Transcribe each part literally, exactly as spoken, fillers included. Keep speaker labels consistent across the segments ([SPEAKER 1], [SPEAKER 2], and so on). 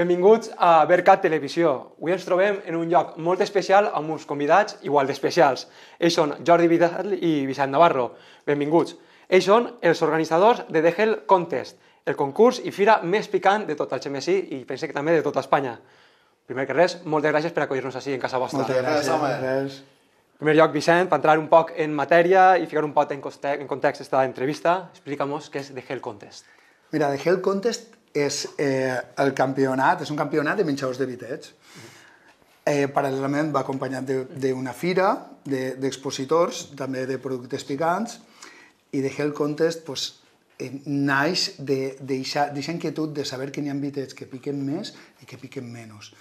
[SPEAKER 1] Benvinguts a Vercat Televisió. Avui ens trobem en un lloc molt especial amb uns convidats igual d'especials. Ells són Jordi Vidal i Vicent Navarro. Benvinguts. Ells són els organitzadors de The Hell Contest, el concurs i fira més picant de tot el Algemesí i pense que també de tota Espanya. Primer que res, moltes gràcies per acollir-nos així en casa vostra.
[SPEAKER 2] Moltes gràcies, home.
[SPEAKER 1] En primer lloc, Vicent, per entrar un poc en matèria i ficar un poc en context esta entrevista, explica-nos què és The Hell Contest.
[SPEAKER 2] Mira, The Hell Contest és eh, el campionat, és un campionat de menjadors de vitets. Eh, paral·lelament va acompanyat d'una fira d'expositors, de, també de productes picants, i The Hell Contest pues, eh, naix d'aquesta inquietud de saber que n'hi ha vitets que piquen més i que piquen menys.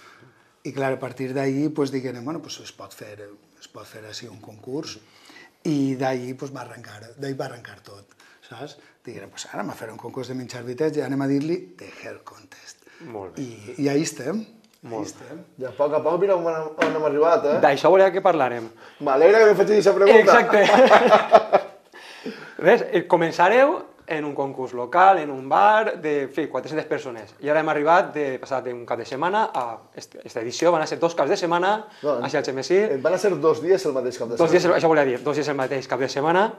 [SPEAKER 2] I clar, a partir d'ahir pues, diguem, bueno, pues, es pot fer, es pot fer així un concurs, i d'ahir pues, va arrencar, d'ahir va arrencar tot. Saps? Diguem, pues ara anem a fer un concurs de menjar vitets i anem a dir-li The Hell Contest.
[SPEAKER 1] Molt bé.
[SPEAKER 2] I, i ahí estem.
[SPEAKER 1] Molt
[SPEAKER 2] ahí estem.
[SPEAKER 3] I a poc a poc mira on, on hem arribat, eh?
[SPEAKER 1] D'això volia que parlàrem.
[SPEAKER 3] M'alegra que em facis aquesta pregunta.
[SPEAKER 1] Exacte. Ves, començareu en un concurs local, en un bar, de fi, quatre-centes persones. I ara hem arribat, de passar d'un cap de setmana a aquesta edició, van a ser dos caps de setmana, no, a Algemesí.
[SPEAKER 3] Van a ser dos dies el mateix cap de setmana.
[SPEAKER 1] Dos dies, això volia dir, dos dies el mateix cap de setmana.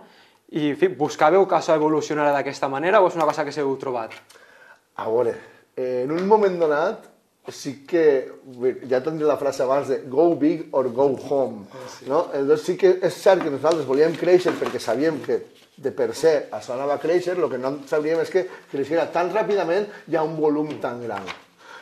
[SPEAKER 1] I, en fi, buscàveu que això evolucionarà d'aquesta manera o és una cosa que s'heu trobat?
[SPEAKER 3] A veure, en un moment donat, sí que, ja tindré la frase abans de go big or go home, no? Llavors sí que és cert que nosaltres volíem créixer perquè sabíem que de per se això anava a créixer, el que no sabíem és que creixera tan ràpidament i a un volum tan gran.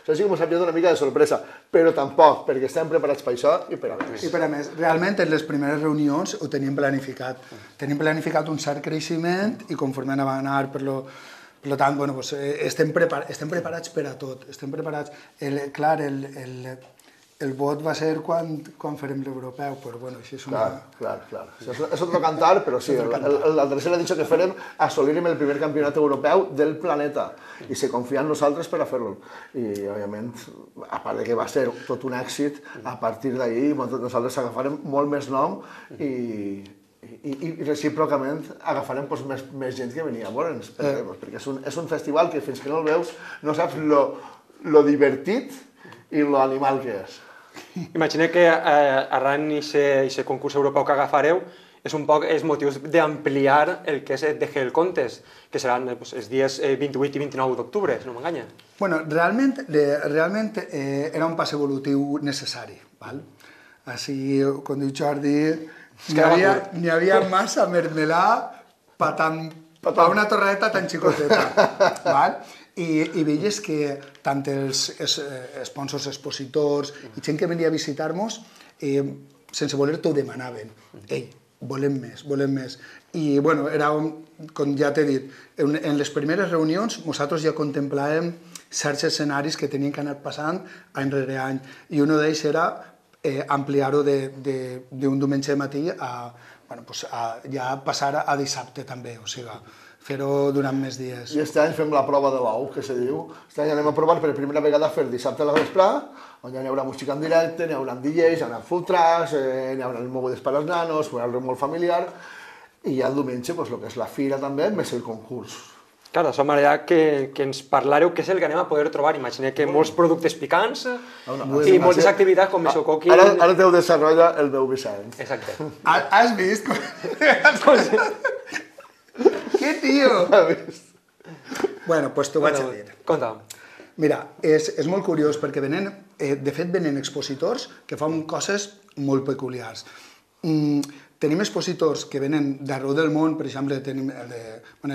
[SPEAKER 3] Això sí que ens ha pillat una mica de sorpresa, però tampoc, perquè estem preparats per això i per a més.
[SPEAKER 2] I per a més, realment en les primeres reunions ho teníem planificat. Tenim planificat un cert creixement i conforme anava a anar, per lo, per tant, bueno, pues, estem, prepar estem preparats per a tot. Estem preparats. El, clar, el, el, el vot va ser quan, quan farem l'europeu, però bueno, això és una...
[SPEAKER 3] Clar, clar, clar. Això és, és otro cantar, però sí, el, el, la tercera ha dit que farem assolir-hem el primer campionat europeu del planeta i se confia en nosaltres per a fer-lo. I, òbviament, a part de que va ser tot un èxit, a partir d'ahir nosaltres agafarem molt més nom i, i, i recíprocament agafarem pues, més, més gent que venia a veure'ns, perquè, pues, perquè és, un, és un festival que fins que no el veus no saps lo, lo divertit i lo animal que és.
[SPEAKER 1] Imagina que eh, arran d'aquest concurs europeu que agafareu és un poc els motius d'ampliar el que és el The Hell Contest, que seran eh, pues, els dies eh, vint-i-vuit i vint-i-nou d'octubre, si no m'enganya.
[SPEAKER 2] Bueno, realment, de, realment eh, era un pas evolutiu necessari, val? Així, com diu Jordi, n'hi havia, n'hi havia massa mermelà per pa una torreta tan xicoteta, val? I, i veies que tant els sponsors, expositors i gent que venia a visitar-nos, eh, sense voler-t'ho demanaven. Ei, volem més, volem més. I, bueno, era, com ja t'he dit, en, en les primeres reunions nosaltres ja contemplàvem certs escenaris que tenien que anar passant any rere any. I un d'ells era eh, ampliar-ho d'un diumenge matí a, bueno, pues a ja passar a dissabte també, o sigui, fer-ho durant més dies.
[SPEAKER 3] I aquest any fem la prova de l'ou, que se diu. Aquest any anem a provar per primera vegada fer dissabte a la vesprà, on ja hi haurà música en directe, hi haurà D Js, hi haurà food trucks, eh, hi haurà mogudes per als nanos, hi haurà molt familiar, i ja el diumenge, pues, el que és la fira també, més el concurs.
[SPEAKER 1] Clar, de manera que, que ens parlareu què és el que anem a poder trobar. Imagina que molts productes picants i moltes activitats com això coqui...
[SPEAKER 3] Ara, ara te ho desenvolupa el meu Vicent.
[SPEAKER 1] Exacte.
[SPEAKER 2] Has vist? ¿Qué tío? Bueno, pues t'ho vaig a dir.
[SPEAKER 1] Conta'm.
[SPEAKER 2] Mira, és, és molt curiós perquè venen, eh, de fet venen expositors que fan coses molt peculiars. Mm, tenim expositors que venen d'arreu del món, per exemple, tenim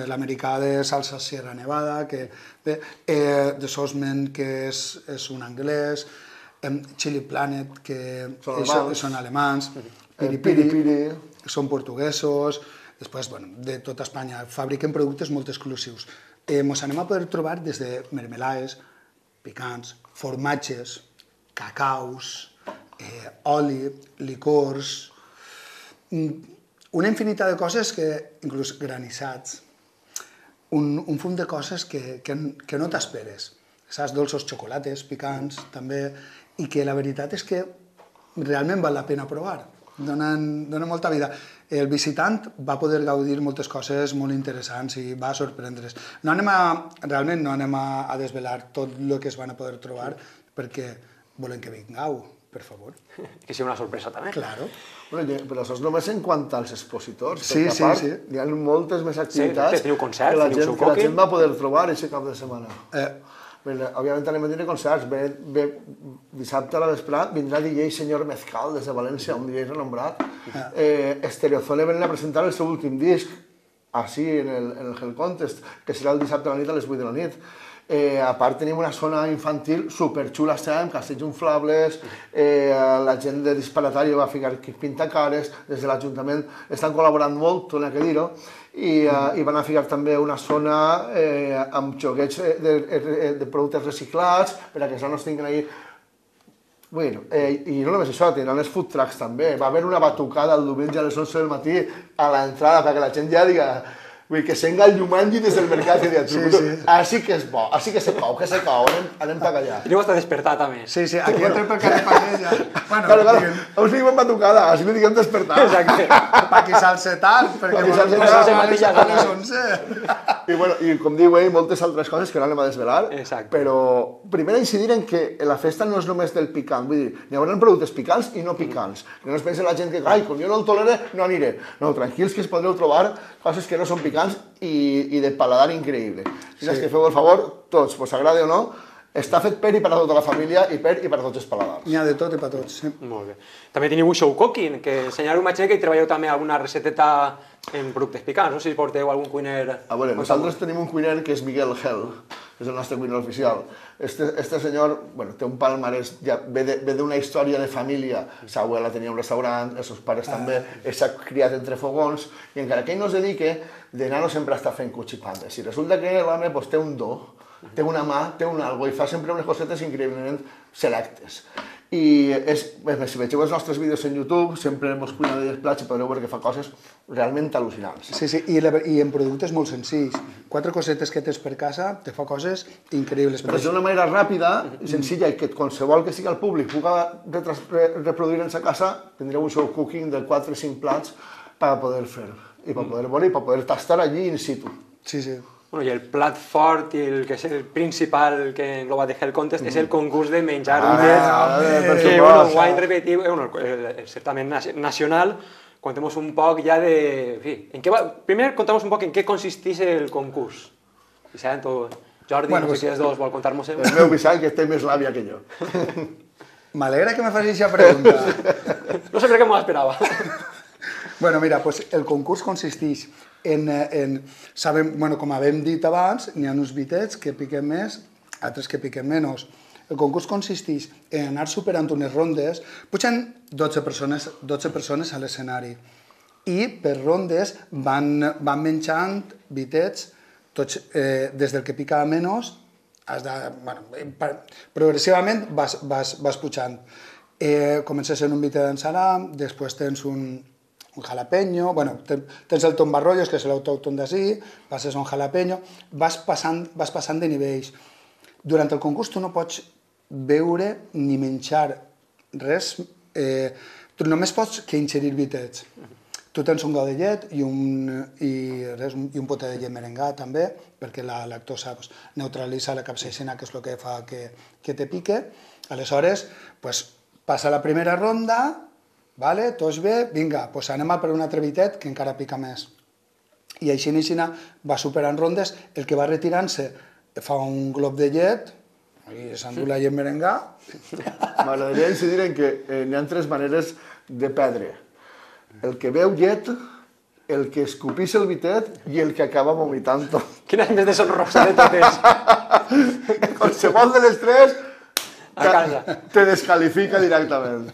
[SPEAKER 2] l'americà de Salsa Sierra Nevada, que, de, eh, de Sosmen, que és, és un anglès, eh, Chili Planet, que
[SPEAKER 3] són
[SPEAKER 2] és,
[SPEAKER 3] alemans,
[SPEAKER 2] són alemans
[SPEAKER 3] Piri Piri, Piri,
[SPEAKER 2] que són portuguesos. Després, bueno, de tota Espanya, fabriquen productes molt exclusius. Eh, mos anem a poder trobar des de mermelades, picants, formatges, cacaus, eh, oli, licors, una infinitat de coses que, inclús granissats, un, un fum de coses que, que, que no t'esperes. Saps, dolços, xocolates, picants, també, i que la veritat és que realment val la pena provar. Donen, donen molta vida. el visitant va poder gaudir moltes coses molt interessants i va sorprendre's. No anem a, realment no anem a, a desvelar tot el que es van a poder trobar perquè volem que vingueu, per favor.
[SPEAKER 1] Que sigui una sorpresa també.
[SPEAKER 2] Claro.
[SPEAKER 3] Bueno, però això és només en quant als expositors,
[SPEAKER 2] sí,
[SPEAKER 3] perquè
[SPEAKER 2] sí,
[SPEAKER 3] a part
[SPEAKER 2] sí.
[SPEAKER 3] hi ha moltes més activitats
[SPEAKER 1] sí, teniu concerts,
[SPEAKER 3] que, la
[SPEAKER 1] teniu
[SPEAKER 3] gent, que la gent va poder trobar aquest cap de setmana.
[SPEAKER 2] Eh.
[SPEAKER 3] Bé, òbviament anem a tenir concerts. Bé, bé, dissabte a la vesprada vindrà D J Senyor Mezcal des de València, un D J renombrat. Ah. Eh, Estereozone venen a presentar el seu últim disc, així en el, en el Hell Contest, que serà el dissabte a la nit a les vuit de la nit. Eh, a part tenim una zona infantil superxula, estem, castells inflables, eh, la gent de Disparatari va ficar pintacares, des de l'Ajuntament estan col·laborant molt, torna a dir-ho, i, eh, i van a ficar també una zona eh, amb joguets de, de, de productes reciclats, per a que els nanos tinguin ahí. Bueno, eh, i no només això, tindran els food trucks també. Va haver una batucada el diumenge a les onze del matí a l'entrada perquè la gent ja diga... Vull que s'enga el Jumanji des del mercat i dius, sí, sí. Així que és bo, així que se cou, que se cou, anem, anem per allà.
[SPEAKER 1] Teniu hasta despertar també.
[SPEAKER 2] Sí, sí, aquí bueno. Entrem per carrer Passeja. Bueno,
[SPEAKER 3] claro, claro, us diguem batucada, així no diguem despertar.
[SPEAKER 1] Exacte.
[SPEAKER 2] Pa qui s'alce tard, perquè
[SPEAKER 3] s'alce
[SPEAKER 2] tard a les onze.
[SPEAKER 3] I, bueno, i com diu ell, moltes altres coses que no anem a desvelar.
[SPEAKER 1] Exacte.
[SPEAKER 3] Però primer incidir en que la festa no és només del picant, vull dir, hi haurà productes picants i no picants. Que no es pensi la gent que, ai, com jo no el tolere, no aniré. No, tranquils que es podreu trobar coses que no són picants i, i de paladar increïble. Si sí. Que feu el favor, tots, vos agrade o no, està fet per i per a tota la família i per i per a tots els paladars.
[SPEAKER 2] N'hi ha de tot i per a tots, sí.
[SPEAKER 1] Molt bé. També teniu un show cooking, que ensenyareu imatge que hi treballeu també alguna recepteta en productes picants, no sé si porteu algun cuiner...
[SPEAKER 3] A veure, nosaltres tenim un cuiner que és Miguel Hell, és el nostre cuiner oficial. Este, este senyor, bueno, té un palmarès, ja ve d'una història de família, sa abuela tenia un restaurant, els seus pares ah. també, s'ha criat entre fogons, i encara que ell no es dedique, de nano sempre està fent cuchipandes. I resulta que l'home pues, té un do, té una mà, té un algo, i fa sempre unes cosetes increïblement selectes. I és, si vegeu els nostres vídeos en YouTube, sempre mos cuina de plats i podreu veure que fa coses realment al·lucinants.
[SPEAKER 2] Sí, sí, i, la, i en productes molt senzills. Quatre cosetes que tens per casa te fa coses increïbles.
[SPEAKER 3] Però d'una manera ràpida i senzilla i que qualsevol que sigui al públic puga reproduir en sa casa, tindreu un show cooking de quatre o cinc plats per poder fer i per poder veure i per poder tastar allí in situ.
[SPEAKER 2] Sí, sí.
[SPEAKER 1] Bueno, i el plat fort i el que és el principal que engloba de Hell Contest mm. és el concurs de menjar ah, ullets, ah, que bueno, ho han repetit, bueno, el, el certamen nacional. Contemos un poc ja de... En fi, en què va... Primer contamos un poc en què consisteix el concurs. Vicent o Jordi, bueno, no sé pues, si els dos vol contar-nos-ho.
[SPEAKER 3] El meu Vicent, que té més l'àvia que jo.
[SPEAKER 2] M'alegra que me facis aquesta pregunta.
[SPEAKER 1] No sé per què m'ho esperava.
[SPEAKER 2] Bueno, mira, pues el concurs consisteix en, en sabem, bueno, com havem dit abans, n'hi ha uns bitets que piquen més, altres que piquen menys. El concurs consisteix en anar superant unes rondes, pugen dotze persones, dotze persones a l'escenari i per rondes van, van menjant bitets, tots, eh, des del que pica menys, has de, bueno, progressivament vas, vas, vas pujant. Eh, comences en un bitet d'ensalam, després tens un un jalapeño, bueno, tens el tombarrollos, que és l'autòcton d'ací, passes a un jalapeño, vas passant, vas passant de nivells. Durant el concurs tu no pots beure ni menjar res, eh, tu només pots que ingerir bitets. Tu tens un got de llet i un, i res, i un pote de llet merengat també, perquè la lactosa pues, neutralitza la capsaicina, que és el que fa que, que te pique. Aleshores, pues, passa la primera ronda, vale, tots bé, vinga, doncs anem a per un altre bitet que encara pica més. I així en així va superant rondes, el que va retirant-se fa un glob de llet, i s'endú la llet merengà.
[SPEAKER 3] M'agradaria incidir en que eh, hi ha tres maneres de perdre. El que veu llet, el que escupís el bitet i el que acaba vomitant-ho.
[SPEAKER 1] Quina més deshonrosa de totes.
[SPEAKER 3] Qualsevol de les tres
[SPEAKER 1] a casa.
[SPEAKER 3] Te descalifica directament.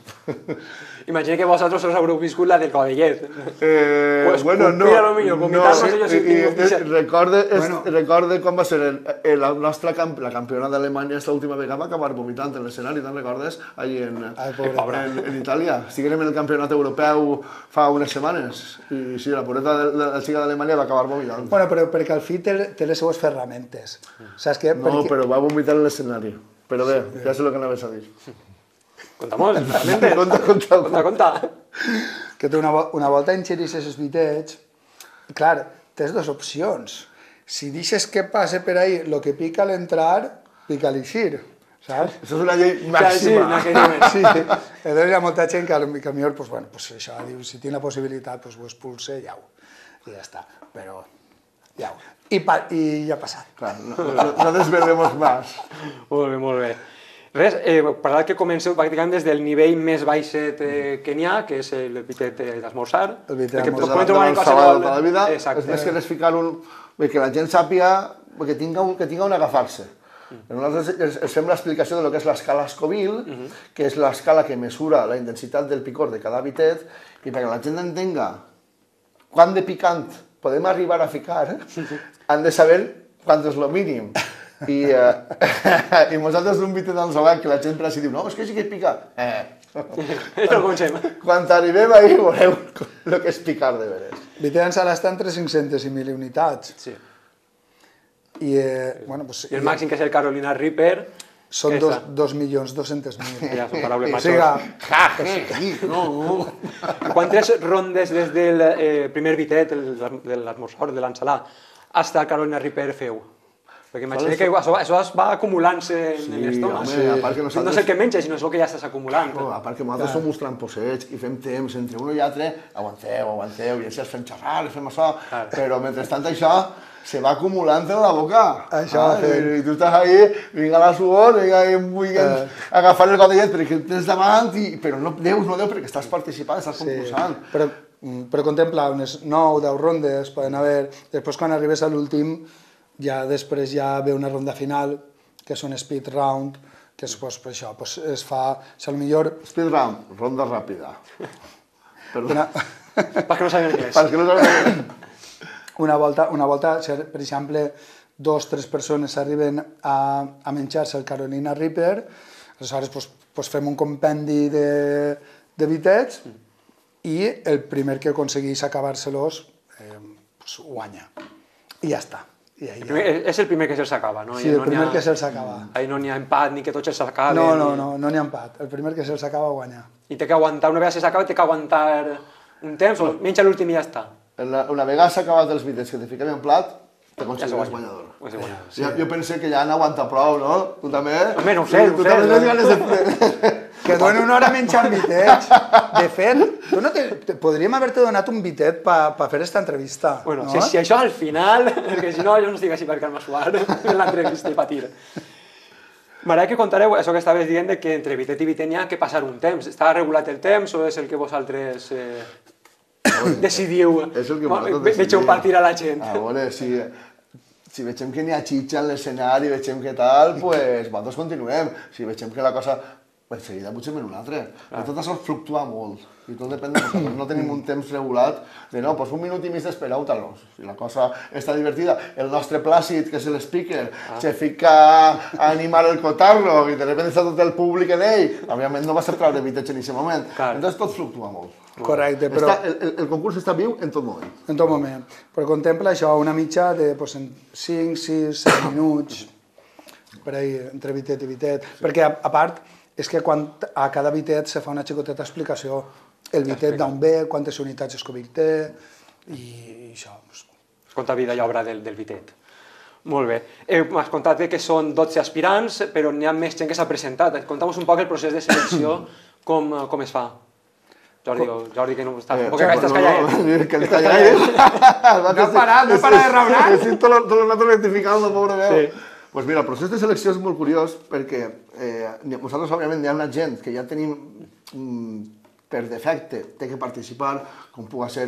[SPEAKER 1] Imagina que vosaltres us haureu viscut la del codellet.
[SPEAKER 3] Eh, pues, bueno, no.
[SPEAKER 1] Lo millor, vomitar-nos
[SPEAKER 3] no,
[SPEAKER 1] ellos
[SPEAKER 3] i, i, i, recorde,
[SPEAKER 2] bueno.
[SPEAKER 3] es, recorde com va ser el, el, el nostre camp, la campiona d'Alemanya esta última vegada va acabar vomitant en l'escenari, te'n recordes? Allí en,
[SPEAKER 2] Ai,
[SPEAKER 3] en, en Itàlia. Estiguem en el campionat europeu fa unes setmanes i sí, la pureta de la xica d'Alemanya va acabar vomitant.
[SPEAKER 2] Bueno, però perquè al fi té, té les seues ferramentes. Saps què?
[SPEAKER 3] No,
[SPEAKER 2] perquè...
[SPEAKER 3] però va vomitar en l'escenari. Però bé, sí, ja sé el que anaves a dir.
[SPEAKER 1] Contamos, realmente.
[SPEAKER 3] Conta, conta.
[SPEAKER 1] Conta, conta.
[SPEAKER 2] Que tu una, una volta ingerixes els bitets, clar, tens dues opcions. Si deixes que passe per ahí lo que pica al entrar, pica al eixir, saps?
[SPEAKER 3] Això és una llei
[SPEAKER 1] Sí, en
[SPEAKER 3] màxima.
[SPEAKER 1] aquell moment.
[SPEAKER 2] Sí, llavors hi ha molta gent que, que a millor, pues, bueno, pues això, diu, si tinc la possibilitat, pues, ho expulse i au, i ja està, però ja ho. I, pa, i ja ha passat.
[SPEAKER 3] Clar, no, no, no desvelemos más.
[SPEAKER 1] Molt bé, molt bé. Res, eh, parlar que comenceu pràcticament des del nivell més baixet eh, que n'hi ha, que és el bitet eh, d'esmorzar.
[SPEAKER 2] El bitet
[SPEAKER 1] que
[SPEAKER 2] d'esmorzar.
[SPEAKER 1] podem trobar en
[SPEAKER 3] de
[SPEAKER 1] qualsevol...
[SPEAKER 3] la vida,
[SPEAKER 1] Exacte.
[SPEAKER 3] és més que res ficar un... que la gent sàpiga que tinga, un, que tinga on agafar-se. Mm. Nosaltres els, els fem l'explicació de lo que és l'escala Scoville, mm -hmm. que és l'escala que mesura la intensitat del picor de cada bitet, i perquè la gent entenga quant de picant podem arribar a ficar, han de saber quant és el mínim. I, eh, i nosaltres un bitet d'ensolat que la gent per així diu, no, és que sí que pica. Eh.
[SPEAKER 1] Això ho comencem.
[SPEAKER 3] Quan arribem ahí veureu el que és picar de veres.
[SPEAKER 2] Bitet d'ençala està entre cinc-centes i mil unitats.
[SPEAKER 1] Sí.
[SPEAKER 2] I, eh, bueno, pues,
[SPEAKER 1] I el màxim, que és el Carolina Reaper,
[SPEAKER 2] són
[SPEAKER 1] que
[SPEAKER 2] dos,
[SPEAKER 1] està-
[SPEAKER 2] dos milions dos-cents mil.
[SPEAKER 1] ja són paraules
[SPEAKER 2] O
[SPEAKER 1] majors.
[SPEAKER 2] sigui,
[SPEAKER 3] Ja, je, no, no.
[SPEAKER 1] Quantes rondes des del eh, primer bitet, el, de l'esmorzar, de l'ensalà, fins al Carolina Reaper feu? Perquè imagina que això, això es va acumulant-se en
[SPEAKER 3] Sí,
[SPEAKER 1] l'estómac.
[SPEAKER 3] home, a part que
[SPEAKER 1] No
[SPEAKER 3] nosaltres-
[SPEAKER 1] és el que menges, sinó és el que ja estàs acumulant.
[SPEAKER 3] No, a part que nosaltres som uns tramposets i fem temps entre un i altre, aguanteu, aguanteu, i així els fem xerrar, els fem això,
[SPEAKER 1] Clar.
[SPEAKER 3] però mentrestant això se va acumulant en la boca.
[SPEAKER 2] Això
[SPEAKER 3] ah,
[SPEAKER 2] fem.
[SPEAKER 3] i, I tu estàs ahí, vinga la suor, vinga, i vull
[SPEAKER 2] Eh.
[SPEAKER 3] agafar el gotellet perquè el tens davant, i, però no deus, no deus, perquè estàs participant, estàs
[SPEAKER 2] Sí,
[SPEAKER 3] concursant.
[SPEAKER 2] però, mm, però contempla unes nou o deu rondes, poden haver... Després, quan arribes a l'últim, ja després ja ve una ronda final, que és un speed round, que és pues, per això, pues, es fa, si millor
[SPEAKER 3] Speed round, ronda ràpida. Perdó.
[SPEAKER 2] una,
[SPEAKER 1] Perquè no sabem anglès.
[SPEAKER 3] Perquè no sabem...
[SPEAKER 2] una volta, una volta, si, per exemple, dos o tres persones arriben a, a menjar-se el Carolina Reaper, aleshores pues, pues fem un compendi de, de bitets i el primer que aconsegueix acabar-se-los eh, pues, guanya. I ja està. I ahí
[SPEAKER 1] El
[SPEAKER 2] ja.
[SPEAKER 1] primer, és el primer que se'ls acaba, no?
[SPEAKER 2] Sí,
[SPEAKER 1] I
[SPEAKER 2] el
[SPEAKER 1] no
[SPEAKER 2] primer
[SPEAKER 1] n'hi ha-
[SPEAKER 2] que se'ls acaba.
[SPEAKER 1] Ahí no n'hi ha empat ni que tots se'ls acaben.
[SPEAKER 2] No, no, no, no n'hi ha empat. El primer que se'ls acaba guanya.
[SPEAKER 1] I té que aguantar, una vegada se s'acaba, té que aguantar un temps, o menja l'últim i ja està.
[SPEAKER 3] Una, una vegada s'ha acabat els bitets que te fiquem en plat, te
[SPEAKER 1] Ja
[SPEAKER 3] consideres
[SPEAKER 1] s'ho guanya.
[SPEAKER 3] guanyador.
[SPEAKER 1] Ja s'ho guanya.
[SPEAKER 3] Sí. Jo, jo pensé que ja han aguantat prou, no? Tu també?
[SPEAKER 1] Home, no ho sé, no ho
[SPEAKER 3] tu
[SPEAKER 1] sé.
[SPEAKER 3] també tens ganes de...
[SPEAKER 2] Que doni una hora menjant bitets. De fet, tu no te, te, podríem haver-te donat un bitet per pa fer aquesta entrevista.
[SPEAKER 1] Bueno,
[SPEAKER 2] no?
[SPEAKER 1] si, si això al final, perquè si no, jo no estic així per Carme Suar en l'entrevista i patir. M'agrada que contareu això que estaves dient de que entre bitet i bitet n'hi ha que passar un temps. Està regulat el temps o és el que vosaltres eh, decidiu?
[SPEAKER 3] És el que
[SPEAKER 1] Bueno,
[SPEAKER 3] vosaltres
[SPEAKER 1] ve- Vegeu
[SPEAKER 3] decidiu.
[SPEAKER 1] partir a la gent.
[SPEAKER 3] A veure, si, si veiem que n'hi ha xitxa en l'escenari, veiem que tal, pues nosaltres continuem. Si veiem que la cosa... Pues seguida potser en un altre. Però tot això fluctua molt. I tot depèn de nosaltres. No tenim un temps regulat de no, pues un minut i mig d'espera, tal. No. Si la cosa està divertida, el nostre Plàcid, que és el speaker, ah. se fica a animar el cotarro i de repente està tot el públic en ell, òbviament no va ser treure bitets en aquest moment.
[SPEAKER 1] Clar.
[SPEAKER 3] Entonces tot fluctua molt.
[SPEAKER 2] Correcte, però
[SPEAKER 3] Està, el, el, el concurs està viu en tot moment.
[SPEAKER 2] en tot moment. Però contempla això, una mitja de pues, en cinc, sis, set minuts, per ahí, entre bitet i bitet. Perquè, a, a part, és que quan a cada bitet se fa una xicoteta explicació. El bitet d'on ve, quantes unitats Scoville té, i, i això. Pues.
[SPEAKER 1] Es conta vida i obra del, del bitet. Molt bé. Eh, M'has contat que són dotze aspirants, però n'hi ha més gent que s'ha presentat. Conta'm un poc el procés de selecció, com, com es fa. Jordi, o Jordi, que no estàs,
[SPEAKER 3] Eh,
[SPEAKER 1] un poc que estàs
[SPEAKER 3] no,
[SPEAKER 1] callat.
[SPEAKER 3] no, que està callat.
[SPEAKER 2] No ha parat, no para de raonar.
[SPEAKER 3] Estic tot, el- tot el rato identificant la pobra veu.
[SPEAKER 1] Sí.
[SPEAKER 3] Pues mira, el procés de selecció és molt curiós perquè eh, nosaltres, òbviament, hi ha una gent que ja tenim mm, per defecte, té que participar, com pugui ser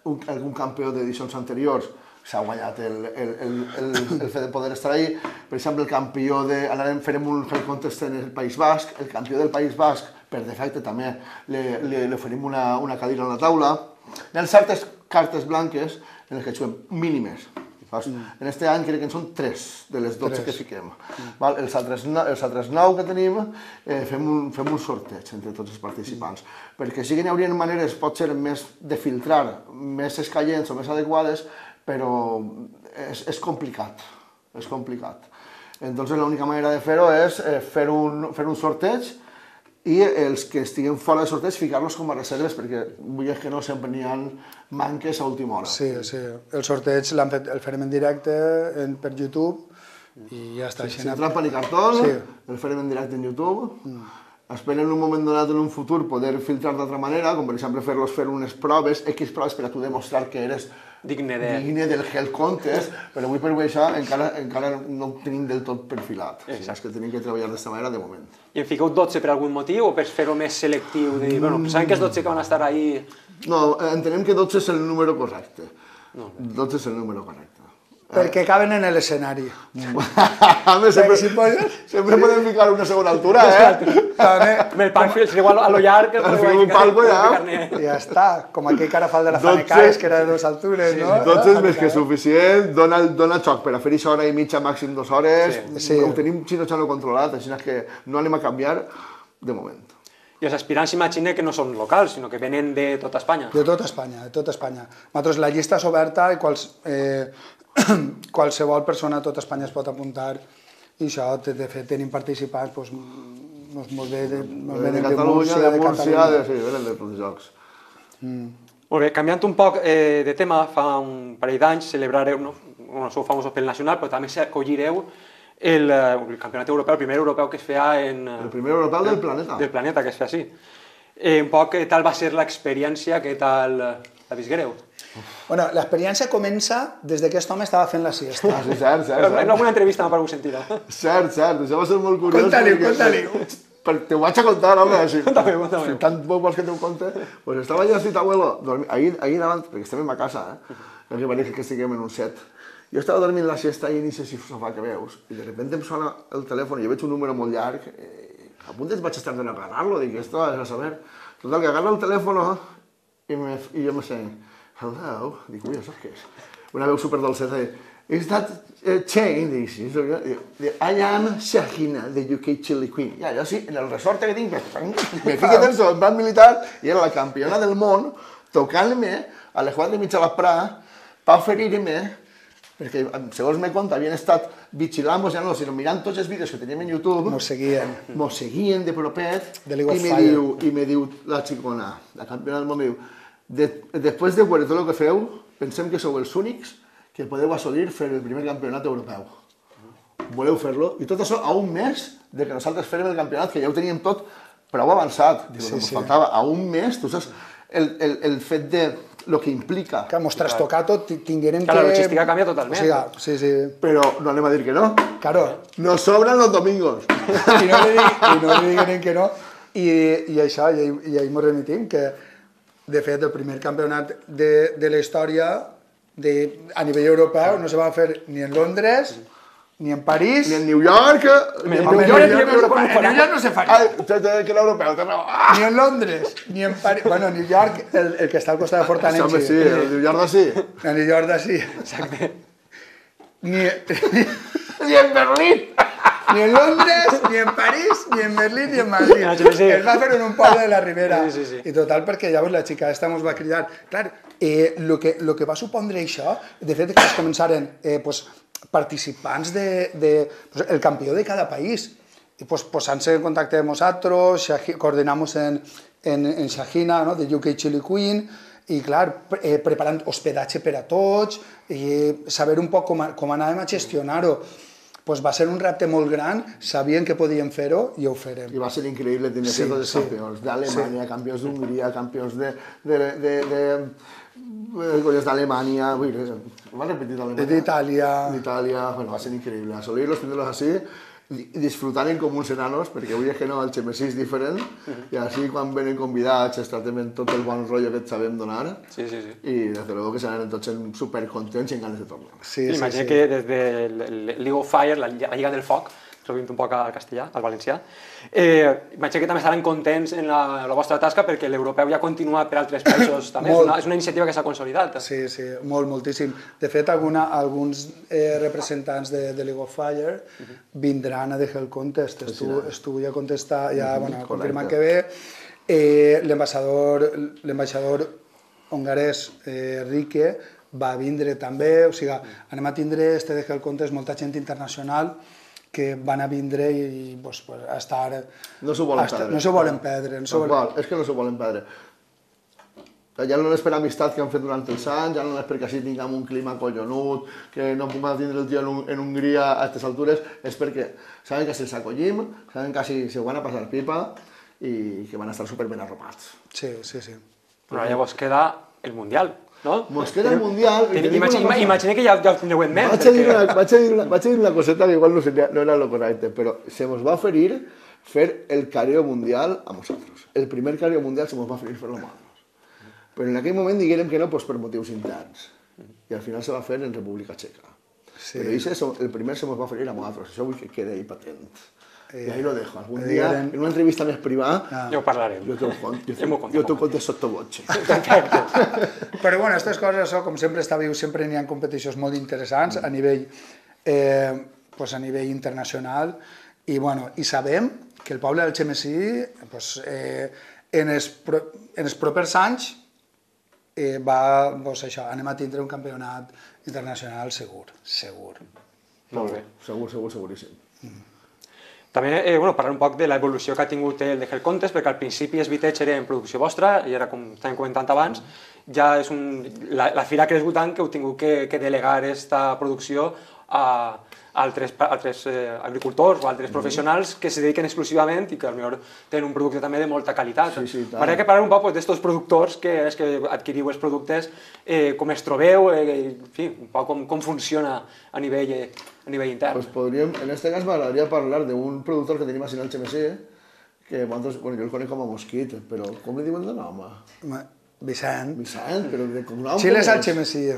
[SPEAKER 3] un, algun campió d'edicions anteriors, s'ha guanyat el, el, el, el, el fet de poder estar ahí. Per exemple, el campió de... Anarem, farem un Hell Contest en el País Basc, el campió del País Basc, per defecte també, li, li, li oferim una, una cadira a la taula. Hi ha certes cartes blanques en les que juguem mínimes. Mm. En aquest any crec que en són tres de les dotze que fiquem. Mm. Val? Els, altres, els altres nou que tenim eh, fem, un, fem un sorteig entre tots els participants. Mm. Perquè sí que n'hi hauria maneres, pot ser més de filtrar, més escaients o més adequades, però és, és complicat. És complicat. Entonces l'única manera de fer-ho és eh, fer, un, fer un sorteig i els que estiguen fora de sorteig ficar-los com a reserves, perquè vull dir que no sempre n'hi ha manques a última hora.
[SPEAKER 2] Sí, sí. El sorteig fet, el farem en directe en, per YouTube i ja està.
[SPEAKER 3] Sí, sin trampa ni cartón, sí. El farem en directe en YouTube. Mm. Esperen en un moment donat en un futur poder filtrar d'altra manera, com per exemple fer-los fer unes proves, X proves per a tu demostrar que eres
[SPEAKER 1] digne, de...
[SPEAKER 3] digne del Hell Contest, però avui per avui això encara, encara no ho tenim del tot perfilat. O sigui, és que tenim que treballar d'aquesta manera de moment.
[SPEAKER 1] I en fiqueu dotze per algun motiu o per fer-ho més selectiu? De dir, bueno, sabem que els dotze que van estar ahí...
[SPEAKER 3] No, entenem que dotze és el número correcte. No. dotze és el número correcte.
[SPEAKER 2] Perquè caben en l'escenari.
[SPEAKER 3] Home, sempre, si poden... sempre podem ficar una segona altura, eh?
[SPEAKER 1] Amb el palco, igual a lo llarg...
[SPEAKER 3] Fiquem un palco ja.
[SPEAKER 2] Ja està, com aquell carafal de la Fanecaes, que era de dues altures, no?
[SPEAKER 3] dotze és més que suficient, dona, dona xoc per a fer això hora i mitja, màxim dues hores.
[SPEAKER 2] Sí.
[SPEAKER 3] Ho tenim xino-xano controlat, així que no anem a canviar de moment.
[SPEAKER 1] I els aspirants s'imagina que no són locals, sinó que venen de tota Espanya.
[SPEAKER 2] De tota Espanya, de tota Espanya. Nosaltres la llista és oberta i quals, eh, qualsevol persona a tota Espanya es pot apuntar i això, de fet, tenim participants doncs, molt bé, de,
[SPEAKER 3] de, de Catalunya, de, de Múrcia, de, sí, venen de tots els jocs.
[SPEAKER 1] Mm. Molt bé, canviant un poc eh, de tema, fa un parell d'anys celebrareu, no? Bueno, sou famosos pel nacional, però també acollireu el, el campionat europeu, el primer europeu que es feia en...
[SPEAKER 3] El primer europeu del planeta.
[SPEAKER 1] Del planeta, que es feia així. Eh, un poc, què tal va ser l'experiència, què tal la visguereu?
[SPEAKER 2] Bueno, l'experiència comença des que aquest home estava fent la siesta.
[SPEAKER 3] Ah, sí, cert, cert.
[SPEAKER 1] En alguna entrevista m'ha paregut sentir.
[SPEAKER 3] Cert, cert, això va ser molt curiós.
[SPEAKER 2] Conta-li, conta-li.
[SPEAKER 3] Te ho vaig a contar, home, així.
[SPEAKER 1] Conta'm, conta'm.
[SPEAKER 3] Si tant vols que te ho conte, pues estava allà así, abuelo, ahir, ahir davant, perquè estem a casa, eh? Perquè pareix que estiguem en un set. Jo estava dormint la siesta i inicia si sofà que veus, i de repente em sona el telèfon i jo veig un número molt llarg, eh, a punt vaig estar d'anar a agarrar-lo, dic, esto és a saber. Total, que agarra el telèfon i, me, i jo me sé, hello, dic, ui, això què és? Una veu superdolceta, dic, is that uh, chain? Dic, sí, I am Shahina, de U K Chili Queen. I allò sí, en el resort que tinc, me fiqué dins del banc militar i era la campiona del món tocant-me a les quatre i mitja de la Prà per oferir-me, perquè, segons me conta, havien estat vigilant-nos, ja no, sinó mirant tots els vídeos que teníem en YouTube.
[SPEAKER 2] Mos seguien.
[SPEAKER 3] Mos seguien de propet.
[SPEAKER 2] De League of
[SPEAKER 3] i me
[SPEAKER 2] Fire.
[SPEAKER 3] diu, I me diu la xicona, la campiona del món, me diu, de, després de veure tot el que feu, pensem que sou els únics que podeu assolir fer el primer campionat europeu. Voleu fer-lo? I tot això a un mes de que nosaltres fèrem el campionat, que ja ho teníem tot prou avançat. Diu, sí, sí. Faltava a un mes, tu saps, el, el, el fet de lo que implica.
[SPEAKER 2] Que mos trastocar tot, tingueren que...
[SPEAKER 1] Que la logística canvia totalment.
[SPEAKER 2] O sigui, sí, sí.
[SPEAKER 3] Però no anem a dir que no.
[SPEAKER 2] Claro.
[SPEAKER 3] Nos sobran los domingos.
[SPEAKER 2] I no li, dig, i no li digueren que no. I, i això, i, i ahir ens remitim, que de fet el primer campionat de, de la història de, a nivell europeu no se va fer ni en Londres, ni en París...
[SPEAKER 3] Ni en New York...
[SPEAKER 2] Ni en New York, ni en Europa. En New York no se faria.
[SPEAKER 3] Que l'europeu, té raó.
[SPEAKER 2] Ni en Londres, ni en París... Bueno, New York, el, el que està al costat de Fortanechi.
[SPEAKER 3] Home, sí, el New York d'ací.
[SPEAKER 2] El New York d'ací.
[SPEAKER 1] Exacte.
[SPEAKER 2] Ni,
[SPEAKER 3] Ni en Berlín.
[SPEAKER 2] ni en Londres, ni en París, ni en Berlín, ni en Madrid.
[SPEAKER 1] Sí, sí.
[SPEAKER 2] Es va fer en un poble de la Ribera.
[SPEAKER 1] Sí, sí, sí.
[SPEAKER 2] I total, perquè llavors la xica esta mos va cridar. Clar, eh, lo, que, lo que va supondre això, de fet, que es començaren eh, pues, participants de, de pues, el campió de cada país. I pues, posant-se en contacte amb nosaltres, coordinamos en, en, en Shahina, no? De U K Chili Queen, i clar, eh, preparant hospedatge per a tots, i saber un poc com, com anàvem a gestionar-ho. Pues va ser un repte molt gran, sabien que podíem fer-ho i ho farem.
[SPEAKER 3] I va ser increïble tenir sí, tots els sí. campions d'Alemanya, sí. campions d'Hongria, campions de... de, de, de d'Alemanya, va repetir d'Alemanya?
[SPEAKER 2] D'Itàlia.
[SPEAKER 3] D'Itàlia, bueno, va ser increïble. Assolir-los, tenir-los així, disfrutant com uns enanos, perquè avui és que no, el xemesí és diferent, i així quan venen convidats es tratem tot el bon rotllo que et sabem donar,
[SPEAKER 1] sí, sí, sí.
[SPEAKER 3] i des de luego que s'anaven tots supercontents i amb ganes de tornar.
[SPEAKER 1] Sí, sí, Imagina sí. que des de League of Fire, la Lliga del Foc, traduint un poc al castellà, al valencià, eh, imagina que també estaran contents en la, la vostra tasca perquè l'europeu ja continua per altres països també, és una, és una iniciativa que s'ha consolidat.
[SPEAKER 2] Sí, sí, molt, moltíssim. De fet, alguna, alguns eh, representants de, de League of Fire uh -huh. vindran a The Hell Contest, estu, estu ja contestar, ja, uh -huh, bueno, confirmant que ve. Eh, L'ambaixador hongarès eh, Rike va vindre també, o sigui, anem a tindre este The Hell Contest molta gent internacional que van a vindre i pues, pues, a estar...
[SPEAKER 3] No s'ho volen
[SPEAKER 2] estar,
[SPEAKER 3] perdre.
[SPEAKER 2] No s'ho volen perdre. No volen...
[SPEAKER 3] Val, és que no s'ho volen perdre. Ja no és per amistat que han fet durant els anys, ja no és perquè així tinguem un clima collonut, que no puguem tindre el tio en, un, en Hongria a aquestes altures, és perquè saben que se'ls acollim, saben que si se ho van a passar pipa i que van a estar superben arropats.
[SPEAKER 2] Sí, sí, sí.
[SPEAKER 1] Però llavors queda el Mundial, no?
[SPEAKER 3] Mos queda el Mundial...
[SPEAKER 1] Imagina, imagina que ja, ja ho tindreu en ment.
[SPEAKER 3] Vaig a, dir una, vaig, a dir una, vaig a dir una coseta que igual no, seria, no era lo correcte, però se mos va oferir fer el careo mundial a nosaltres. El primer careo mundial se mos va oferir fer-lo a nosaltres. Però en aquell moment diguérem que no pues, per motius interns. I al final se va fer en República Txeca. Sí. Però això, el primer se mos va oferir a nosaltres. Això vull que quede ahí patent. Eh, I ahí lo dejo. Algun dia, en una entrevista més privada,
[SPEAKER 1] ah. ja ho parlarem.
[SPEAKER 3] Jo t'ho jo t'ho conto sottovoce.
[SPEAKER 2] Però bueno, aquestes coses, això, com sempre està viu, sempre n'hi ha competicions molt interessants a nivell, eh, pues a nivell internacional. I, bueno, i sabem que el poble del Xemesí, pues, eh, en, els pro, en els propers anys, Eh, va, doncs això, anem a tindre un campionat internacional segur, segur.
[SPEAKER 1] Molt bé.
[SPEAKER 3] Segur, segur, seguríssim. Mm.
[SPEAKER 1] També, eh, bueno, parlar un poc de l'evolució que ha tingut el de Hell Contest, perquè al principi els Vitech era en producció vostra, i ara, com estàvem comentant abans, ja és un, la, la fira ha crescut tant que heu tingut que, que delegar aquesta producció a altres, altres eh, agricultors o altres professionals que se dediquen exclusivament i que potser tenen un producte també de molta qualitat.
[SPEAKER 3] Sí, sí,
[SPEAKER 1] M'agradaria que parlar un poc d'estos productors que, que adquiriu els productes, eh, com es trobeu, eh, en fi, un poc com, com funciona a nivell, eh, a nivell intern.
[SPEAKER 3] Pues podríem, en este cas m'agradaria parlar d'un productor que tenim així al Xemesí, que bueno, jo el conec com a Mosquit, però com li diuen de nom?
[SPEAKER 2] Vicent.
[SPEAKER 3] Vicent, però de cognom...
[SPEAKER 2] Xiles al Xemesí.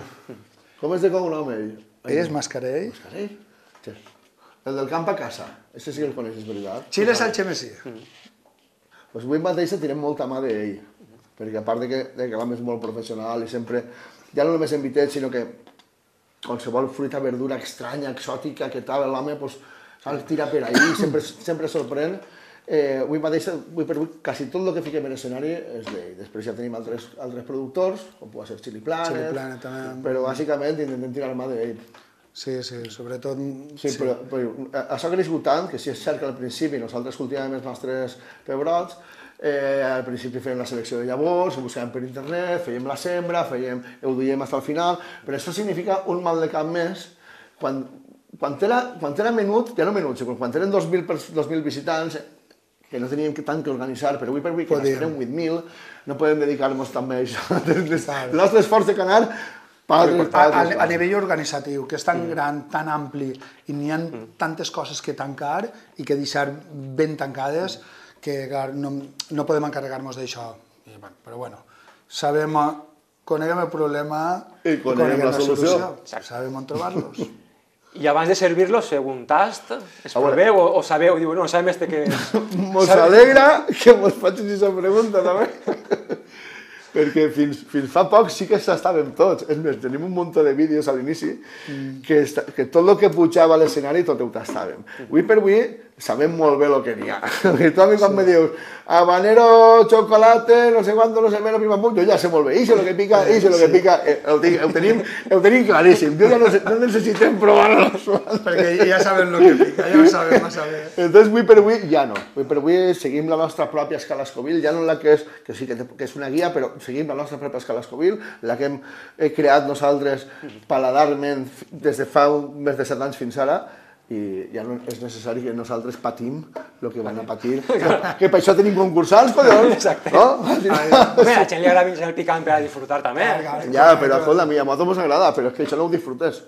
[SPEAKER 3] Com és de cognom ell?
[SPEAKER 2] Ell és Mascarell.
[SPEAKER 3] Mascarell? Sí. El del camp a casa, ese sí que el coneixes, veritat?
[SPEAKER 2] Xiles al Xemesí.
[SPEAKER 3] Pues avui mateix tirem molta mà d'ell, perquè a part de que, de que l'home és molt professional i sempre, ja no només en Vitech, sinó que qualsevol fruita, verdura estranya, exòtica, que tal, l'home pues, saps tirar per ahí, sempre, sempre sorprèn. Eh, avui mateix, avui per avui, quasi tot el que fiquem en escenari és d'ell. Després ja tenim altres, altres productors, com pot ser Chili Planet,
[SPEAKER 2] Chili Planet també.
[SPEAKER 3] Però bàsicament intentem tirar mà d'ell.
[SPEAKER 2] Sí, sí, sobretot...
[SPEAKER 3] Sí, sí. Però, però això ha crescut tant que si és cert que al principi nosaltres cultivàvem els nostres pebrots, eh, al principi fèiem la selecció de llavors, ho buscàvem per internet, fèiem la sembra, fèiem, ho duíem fins al final, però això significa un mal de cap més quan, quan, era, quan era menut, ja no menut, quan eren dos mil visitants, que no teníem tant que organitzar, però avui per avui, que n'esperem vuit mil, no podem dedicar-nos també a això. El nostre esforç de canar
[SPEAKER 2] A, a, a nivell organitzatiu, que és tan mm. gran, tan ampli, i n'hi ha mm. tantes coses que tancar i que deixar ben tancades, que no, no podem encarregar-nos d'això. Però bueno, sabem, coneguem el problema
[SPEAKER 3] i coneguem la solució.
[SPEAKER 2] Sabem on trobar-los.
[SPEAKER 1] I abans de servir-los, feu un tast, es proveu o, o sabeu, diu, no, sabem este que...
[SPEAKER 3] Mos alegra que mos facis aquesta pregunta, també. Perquè fins, fins fa poc sí que s'estàvem tots. És més, tenim un munt de vídeos a l'inici mm. que, que tot el que pujava a l'escenari tot ho tastàvem. Avui per avui sabem molt bé el que n'hi ha. I tu a mi quan sí. me dius habanero, chocolate, no sé quanto, no sé menos, pim, pum, jo ja sé molt bé. Ixe lo que pica, ixe lo que pica, eh, ho, ho, tenim, ho tenim claríssim. Jo ja no, no necessitem provar-los.
[SPEAKER 2] Perquè ja sabem el que pica, ja ho sabem massa bé.
[SPEAKER 3] Entonces, avui per avui ja no. Avui per avui seguim la nostra pròpia escala Scoville, ja no la que és, que sí que, que és una guia, però seguim la nostra pròpia escala Scoville, la que hem creat nosaltres paladarment des de fa més de set anys fins ara, i ja no és necessari que nosaltres patim el que van a patir, que, que per això tenim concursants, collons.
[SPEAKER 1] Exacte.
[SPEAKER 3] No?
[SPEAKER 1] Home, a la gent li agrada el picant per a disfrutar també.
[SPEAKER 3] Ja, però escolta, a mi a nosaltres ens agrada, però és que això no ho disfrutes.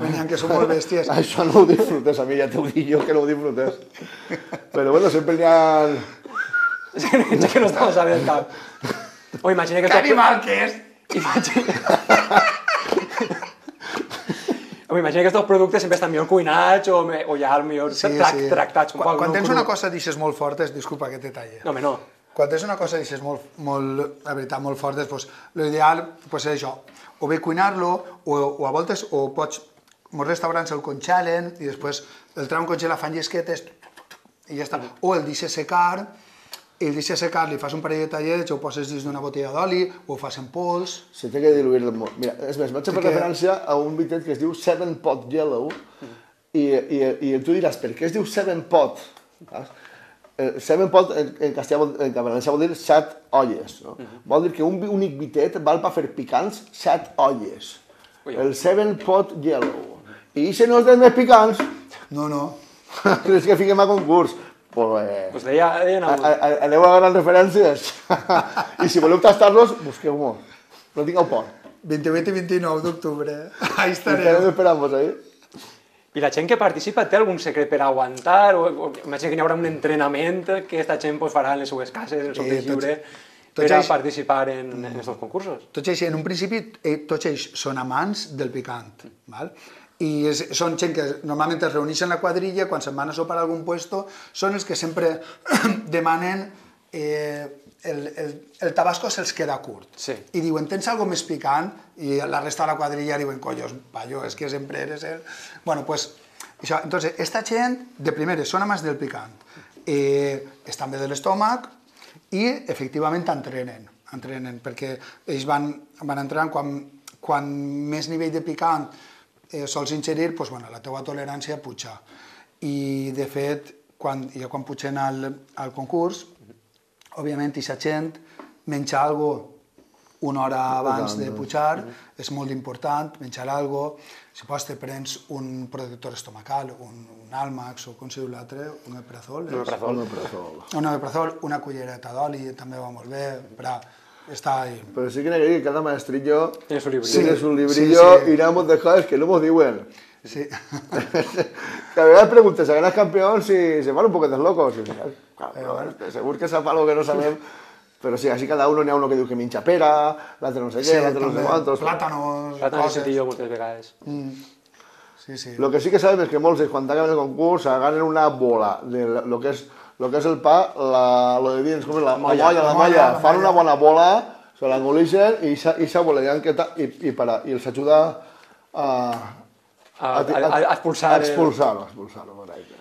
[SPEAKER 2] Venien que som molt bèsties.
[SPEAKER 3] Això no ho disfrutes, a mi ja t'ho dic jo que no ho disfrutes. Però bueno, sempre n'hi ha...
[SPEAKER 1] És que no estamos a ver el cap. O imagina que...
[SPEAKER 2] Que animal que és!
[SPEAKER 1] Home, imagina que aquests productes sempre estan millor cuinats o, o ja millor
[SPEAKER 2] sí,
[SPEAKER 1] trac,
[SPEAKER 2] sí.
[SPEAKER 1] tractats un
[SPEAKER 2] quan,
[SPEAKER 1] poc.
[SPEAKER 2] Quan
[SPEAKER 1] no
[SPEAKER 2] tens
[SPEAKER 1] cru.
[SPEAKER 2] una cosa d'aixes molt fortes, disculpa que te talle.
[SPEAKER 1] No, home, no.
[SPEAKER 2] Quan tens una cosa d'aixes molt, molt, la veritat, molt fortes, pues, l'ideal pues, és això, o bé cuinar-lo, o, o a voltes, o pots, molts restaurants el congelen i després el trauen congelar, fan llesquetes i ja està. O el deixes secar, i el deixes secar, li fas un parell de tallets, o ho poses dins d'una botella d'oli, o ho fas en pols...
[SPEAKER 3] Se té que diluir molt. Mira, és més, vaig a fer referència a un bitet que es diu Seven Pot Yellow, i, i, i tu diràs, per què es diu Seven Pot? Seven Pot en, en castellà, en valencià vol dir set olles. No? Uh-huh. Vol dir que un únic bitet val per fer picants set olles. Ui, el Seven Pot Yellow. I si no els dels més picants...
[SPEAKER 2] No, no.
[SPEAKER 3] Creus que fiquem a concurs? Pues, eh,
[SPEAKER 1] pues deia, deien a,
[SPEAKER 3] a, a, aneu a ganar referències. I si voleu tastar-los, busqueu-ho. No tingueu por.
[SPEAKER 2] vint-i-vuit i vint-i-nou d'octubre. Ahí
[SPEAKER 3] Estarem
[SPEAKER 2] estarem.
[SPEAKER 3] esperant-vos ahí.
[SPEAKER 1] I la gent que participa té algun secret per aguantar? O, o imagina que hi haurà un entrenament que aquesta gent pues, farà en les seues cases, en el seu temps lliure, per a participar en aquests concursos.
[SPEAKER 2] Tots ells, en un principi, eh, tots ells són amants del picant, val? I és, són gent que normalment es reuneixen en la quadrilla, quan se'n van a sopar a algun puesto, són els que sempre demanen eh, el, el, el tabasco se'ls queda curt.
[SPEAKER 1] Sí.
[SPEAKER 2] I diuen, tens algo més picant? I la resta de la quadrilla diuen, collos, payo, és que sempre eres el... Bueno, pues, això, entonces, esta gent, de primeres, són amants del picant, eh, estan bé de l'estómac i, efectivament, entrenen, entrenen, perquè ells van, van entrenant quan, quan més nivell de picant eh, sols ingerir, pues, bueno, la teua tolerància puja. I, de fet, quan, ja quan pugen al, al concurs, òbviament, aquesta gent menja algo una hora abans de pujar, és molt important, menjar algo. Si pots, te prens un protector estomacal, un, un Almax, o com se diu l'altre, un Omeprazol.
[SPEAKER 1] Un Omeprazol.
[SPEAKER 3] Un
[SPEAKER 2] Un Omeprazol, una cullereta d'oli, també va molt bé, per estar ahí.
[SPEAKER 3] Pero sí que que cada maestrillo
[SPEAKER 1] tiene su librillo,
[SPEAKER 3] tiene su librillo
[SPEAKER 2] sí, sí.
[SPEAKER 3] Y ramos de cosas que no nos diuen.
[SPEAKER 2] Sí.
[SPEAKER 3] Que a veces preguntes, ¿a ganas campeón si se van un poquito locos? Y, claro, seguro que sepa algo que no sabemos. Pero sí, así cada uno n'hi ha uno que diu que minxa pera, l'altre no sé què, l'altre no sé quantos...
[SPEAKER 2] Plàtanos,
[SPEAKER 1] Plàtanos he sentit jo moltes vegades.
[SPEAKER 2] Mm. Sí, sí.
[SPEAKER 3] Lo que sí que sabem és que molts, quan acaben el concurs, agarren una bola de lo que és, lo que és el pa, la, lo de dins, com és la, la molla, la molla, fan una bona bola, se l'engolixen i aquesta bola i, i, para, i els ajuda a...
[SPEAKER 1] A, a, a, a expulsar...
[SPEAKER 3] A expulsar-ho, a expulsar-ho.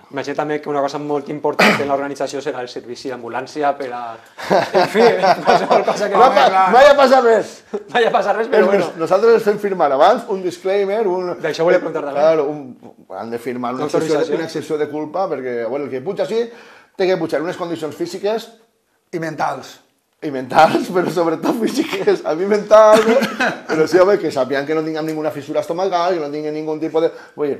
[SPEAKER 1] Imagina també que una cosa molt important en l'organització serà el servici d'ambulància per a... En fi, qualsevol cosa que...
[SPEAKER 3] No, no vaya a passar res.
[SPEAKER 1] No vaya a passar res, però bueno.
[SPEAKER 3] Nosaltres els fem firmar abans un disclaimer, un...
[SPEAKER 1] D'això volia preguntar també.
[SPEAKER 3] Claro, un, han de firmar una excepció, una excepció de culpa, perquè, bueno, el que puja així té que pujar unes condicions físiques...
[SPEAKER 2] I mentals.
[SPEAKER 3] I mentals, però sobretot físiques. A mi mentals, però sí, home, que sàpiguen que no tinguem ninguna fissura estomacal, que no tinguin ningún tipus de... Vull dir,